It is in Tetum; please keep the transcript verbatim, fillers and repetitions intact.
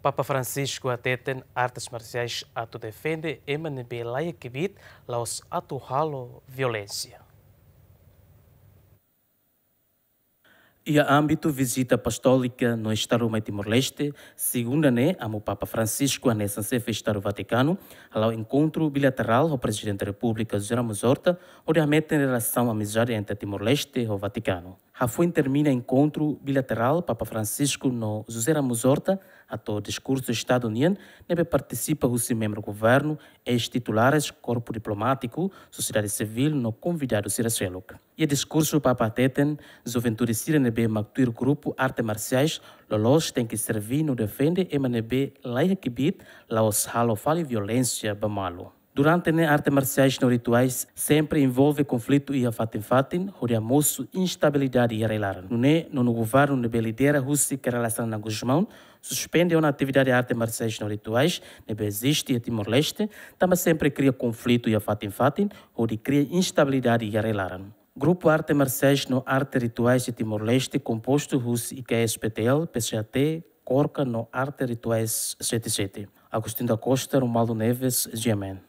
Papa Francisco hateten artes marsiais atu defende ema ne'ebé laiha kbiit, la'ós atu halo violénsia. Iha ámbitu vizita apostólika no Estadu mai Timor-Leste, segunda ne'e, Amu Papa Francisco hanesan Xefe Estadu Vatikanu hala'o enkontru bilaterál ho Prezidente Repúblika José Ramos Horta, hodi hametin relasaun amizade entre Timor-Leste ho Vatikanu. Hafoin termina enkontru bilaterál, Papa Francisco no José Ramos Horta hato'o diskursu Estadu nian, ne'ebé partisipa husi membru governu, eis-titulares, korpu diplomátiku, sosiedade sivíl no konvidadu sira seluk. Iha diskursu, Papa hateten, juventude sira ne'ebé mak tuir grupu arte marsiais loloos tenke serví no defende ema ne'ebé laiha kbiit, la'ós halo fali violénsia ba malu. Durante ne'e, arte marsiais no rituais sempre envolve konflitu iha fatin-fatin, hodi hamosu instabilidade iha rai-laran. Nune'e, nonu governu ne'ebé lidera husi Kay Rala Xanana Gusmão suspende ona atividade arte marsiais no rituais ne'ebé eziste iha Timor-Leste, tanba sempre kria konflitu iha fatin-fatin, hodi kria instabilidade iha rai-laran. Grupu arte marsiais no arte rituais iha Timor-Leste kompostu husi I K S P T L, P C H T, Korka no Arte Rituais sete sete. Agostinho da Costa, Romualdo Neves, G M N.